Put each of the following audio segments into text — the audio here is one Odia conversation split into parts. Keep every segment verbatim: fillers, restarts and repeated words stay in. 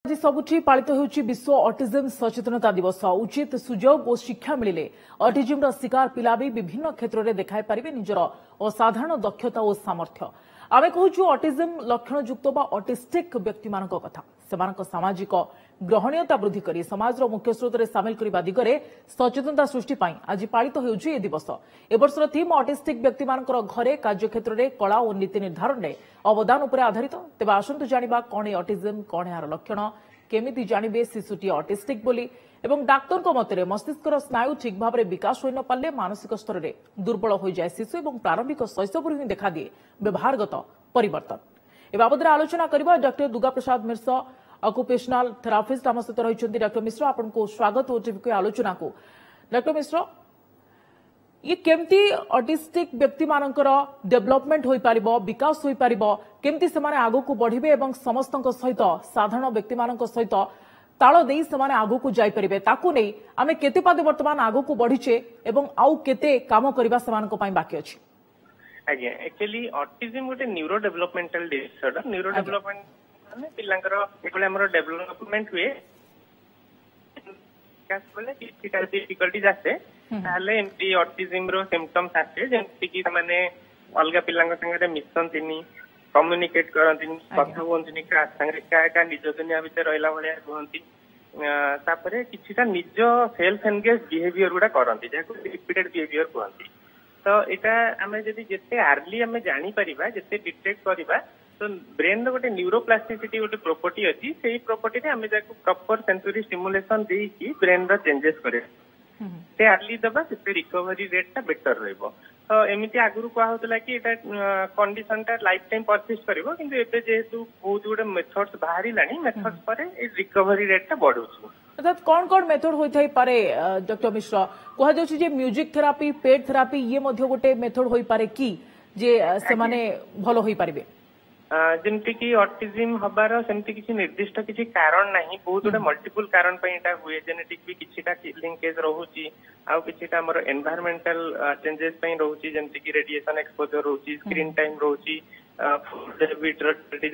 ଆଜି ସବୁଠି ପାଳିତ ହେଉଛି ବିଶ୍ୱ ଅଟିଜିମ୍ ସଚେତନତା ଦିବସ। ଉଚିତ ସୁଯୋଗ ଓ ଶିକ୍ଷା ମିଳିଲେ ଅଟିଜିମ୍ର ଶିକାର ପିଲା ବି ବିଭିନ୍ନ କ୍ଷେତ୍ରରେ ଦେଖାଇ ପାରିବେ ନିଜର ଅସାଧାରଣ ଦକ୍ଷତା ଓ ସାମର୍ଥ୍ୟ। ଆମେ କହୁଛୁ ଅଟିଜିମ୍ ଲକ୍ଷଣଯୁକ୍ତ ବା ଅଟିଷ୍ଟିକ୍ ବ୍ୟକ୍ତିମାନଙ୍କ କଥା। ସେମାନଙ୍କ ସାମାଜିକ ଗ୍ରହଣୀୟତା ବୃଦ୍ଧି କରି ସମାଜର ମୁଖ୍ୟସ୍ରୋତରେ ସାମିଲ କରିବା ଦିଗରେ ସଚେତନତା ସୃଷ୍ଟି ପାଇଁ ଆଜି ପାଳିତ ହେଉଛି ଏ ଦିବସ। ଏ ବର୍ଷର ଥିମ୍ ଅଟିଷ୍ଟିକ୍ ବ୍ୟକ୍ତିମାନଙ୍କର ଘରେ, କାର୍ଯ୍ୟକ୍ଷେତ୍ରରେ, କଳା ଓ ନୀତି ନିର୍ଦ୍ଧାରଣରେ ଅବଦାନ ଉପରେ ଆଧାରିତ। ତେବେ ଆସନ୍ତୁ ଜାଣିବା କ'ଣ ଏ ଅଟିଜିମ୍, କ'ଣ ଏହାର ଲକ୍ଷଣ, କେମିତି ଜାଣିବେ ଶିଶୁଟି ଅଟିଷ୍ଟିକ୍ ବୋଲି ଏବଂ ଡାକ୍ତରଙ୍କ ମତରେ ମସ୍ତିଷ୍କର ସ୍ନାୟୁ ଠିକ୍ ଭାବରେ ବିକାଶ ହୋଇନପାରିଲେ ମାନସିକ ସ୍ତରରେ ଦୁର୍ବଳ ହୋଇଯାଏ ଶିଶୁ ଏବଂ ପ୍ରାରମ୍ଭିକ ଶୈଶବରୁ ହିଁ ଦେଖାଦିଏ ବ୍ୟବହାରଗତ ପରିବର୍ତ୍ତନ। ଏ ବାବଦରେ ଆଲୋଚନା କରିବା doctor Durga Prasad Mishra, occupational therapist ଆମ ସହିତ ରହିଛନ୍ତି। ଡକ୍ଟର ମିଶ୍ର, ଆପଣଙ୍କୁ ସ୍ୱାଗତ ଓଟିଭିକୁ ଆଲୋଚନାକୁ। ଡକ୍ଟର ମିଶ୍ର, ଇଏ କେମିତି ଅଟିଷ୍ଟିକ୍ ବ୍ୟକ୍ତିମାନଙ୍କର ଡେଭଲପମେଣ୍ଟ ହୋଇପାରିବ, ବିକାଶ ହୋଇପାରିବ, କେମିତି ସେମାନେ ଆଗକୁ ବଢ଼ିବେ ଏବଂ ସମସ୍ତଙ୍କ ସହିତ, ସାଧାରଣ ବ୍ୟକ୍ତିମାନଙ୍କ ସହିତ ତାଳ ଦେଇ ସେମାନେ ଆଗକୁ ଯାଇପାରିବେ, ତାକୁ ନେଇ ଆମେ କେତେ ପାଦେ ବର୍ତ୍ତମାନ ଆଗକୁ ବଢ଼ିଛେ ଏବଂ ଆଉ କେତେ କାମ କରିବା ସେମାନଙ୍କ ପାଇଁ ବାକି ଅଛି? ଆଜ୍ଞା, ଆକ୍ଚୁଆଲି ଅଟିଜିମ୍ ଗୋଟେ neuro developmental disorder. Neuro development ମାନେ ପିଲାଙ୍କର ଯେତେବେଳେ ଆମର ଡେଭଲପମେଣ୍ଟ ହୁଏ ବେଳେ କିଛିଟା ଡିଫିକଲ୍ଟିଜ ଆସେ, ତାହେଲେ ଏମିତି ଅଟିଜିମ୍ ର ସିମ୍ପଟମ୍ସ ଆସେ, ଯେମିତି କି ସେମାନେ ଅଲଗା ପିଲାଙ୍କ ସାଙ୍ଗରେ ମିଶନ୍ତିନି, କମ୍ୟୁନିକେଟ କରନ୍ତିନି, କଥା ହୁଅନ୍ତିନି କାହା ସାଙ୍ଗରେ, ଏକା ଏକା ନିଜ ଦୁନିଆ ଭିତରେ ରହିଲା ଭଳିଆ ରୁହନ୍ତି। ତାପରେ କିଛିଟା ନିଜ ସେଲ୍ଫ ଏନଗେଜ ବିହେଭିୟର ଗୁଡା କରନ୍ତି, ଯାହାକୁ ରିପିଟେଡ ବିହେଭିୟର କୁହନ୍ତି। ତ ଏଇଟା ଆମେ ଯଦି ଯେତେ ଆର୍ଲି ଆମେ ଜାଣିପାରିବା, ଯେତେ ଡିଟେକ୍ଟ କରିବା, ତ ବ୍ରେନ ର ଗୋଟେ ନ୍ୟୁରୋପ୍ଲାଷ୍ଟିସିଟି ଗୋଟେ ପ୍ରପର୍ଟି ଅଛି, ସେଇ ପ୍ରପର୍ଟିରେ ଆମେ ଯାକୁ ପ୍ରପର ସେନ୍ସରି ଷ୍ଟିମୁଲେସନ ଦେଇକି ବ୍ରେନ ର ଚେଞ୍ଜେସ କରିବା, ଯେତେ ଆର୍ଲି ଦେବା ସେତେ ରିକଭରି ରେଟ୍ ଟା ବେଟର ରହିବ। ତ ଏମିତି ଆଗରୁ କୁହାହଉଥିଲା କି ଏଇଟା କଣ୍ଡିସନ ଟା ଲାଇଫ ଟାଇମ ପରସିଷ୍ଟ କରିବ, କିନ୍ତୁ ଏବେ ଯେହେତୁ ବହୁତ ଗୁଡେ ମେଥଡ୍ସ ବାହାରିଲାଣି, ମେଥଡ୍ସ ପରେ ଏଇ ରିକଭରି ରେଟ୍ ଟା ବଢୁଛି। ଅର୍ଥାତ୍ କ'ଣ କ'ଣ ମେଥଡ ହୋଇଥାଇପାରେ ଡକ୍ଟର ମିଶ୍ର? କୁହାଯାଉଛି ଯେ ମ୍ୟୁଜିକ ଥେରାପି, ପେଟ୍ ଥେରାପି, ଇଏ ମଧ୍ୟ ଗୋଟେ ମେଥଡ ହୋଇପାରେ କି ଯେ ସେମାନେ ଭଲ ହୋଇପାରିବେ? ଯେମିତି କି ଅଟିଜିମ୍ ହବାର ସେମିତି କିଛି ନିର୍ଦ୍ଦିଷ୍ଟ କିଛି କାରଣ ନାହିଁ, ବହୁତ ଗୁଡେ ମଲ୍ଟିପୁଲ କାରଣ ପାଇଁ ଏଇଟା ହୁଏ। ଜେନେଟିକ ବି କିଛିଟା ଲିଙ୍କେଜ ରହୁଛି, ଆଉ କିଛିଟା ଆମର ଏନଭାୟରମେଣ୍ଟାଲ ଚେଞ୍ଜେସ ପାଇଁ ରହୁଛି, ଯେମିତି କି ରେଡିଏସନ ଏକ୍ସପୋଜର ରହୁଛି, ସ୍କ୍ରିନ୍ ଟାଇମ ରହୁଛି, ଫୁଡ ହାବିଟ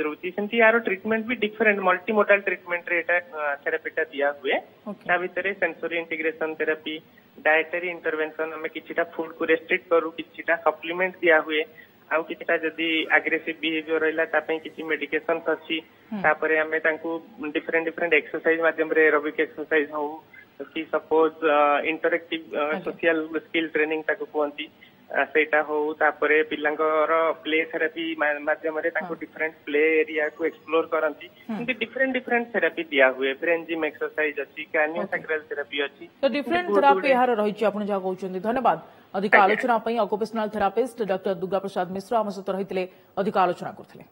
ରହୁଛି। ସେମିତି ୟାର ଟ୍ରିଟମେଣ୍ଟ ବି ଡିଫରେଣ୍ଟ ମଲ୍ଟି ମୋଡାଲ ଟ୍ରିଟମେଣ୍ଟରେ ଏଇଟା ଥେରାପିଟା ଦିଆ ହୁଏ। ତା ଭିତରେ sensory integration therapy, dietary intervention, ଆମେ କିଛିଟା ଫୁଡ କୁ ରେଷ୍ଟ୍ରିକ୍ଟ କରୁ, କିଛିଟା ସପ୍ଲିମେଣ୍ଟ ଦିଆ ହୁଏ, ଆଉ କିଛିଟା ଯଦି ଆଗ୍ରେସିଭ ବିହେଭିୟର ରହିଲା ତା ପାଇଁ କିଛି ମେଡିକେସନ ଅଛି। ତାପରେ ଆମେ ତାଙ୍କୁ ଡିଫରେଣ୍ଟ ଡିଫରେଣ୍ଟ ଏକ୍ସରସାଇଜ ମାଧ୍ୟମରେ, ଏରୋବିକ ଏକ୍ସରସାଇଜ ହଉ କି suppose interactive social skill training ତାକୁ କୁହନ୍ତି, ସେଇଟା ହଉ, ତାପରେ ପିଲାଙ୍କର ପ୍ଲେ ଥେରାପି ମାଧ୍ୟମରେ ତାଙ୍କୁ ଡିଫରେଣ୍ଟ ପ୍ଲେ ଏରିଆକୁ ଏକ୍ସପ୍ଲୋର କରନ୍ତି, ଏମିତି ଡିଫରେଣ୍ଟ ଡିଫରେଣ୍ଟ ଥେରାପି ଦିଆ ହୁଏ। ବ୍ରେନ୍ ଜିମ୍ ଏକ୍ସରସାଇଜ ଅଛି, କ୍ରାନିଓସାକ୍ରାଲ ଥେରାପି ଅଛି, ତ ଡିଫରେଣ୍ଟ ଥେରାପି ଏହାର ରହିଛି ଆପଣ ଯାହା କହୁଛନ୍ତି। ଧନ୍ୟବାଦ ଅଧିକ ଆଲୋଚନା ପାଇଁ। Occupational therapist doctor Durga Prasad Mishra ଆମ ସହିତ ରହିଥିଲେ, ଅଧିକ ଆଲୋଚନା କରୁଥିଲେ।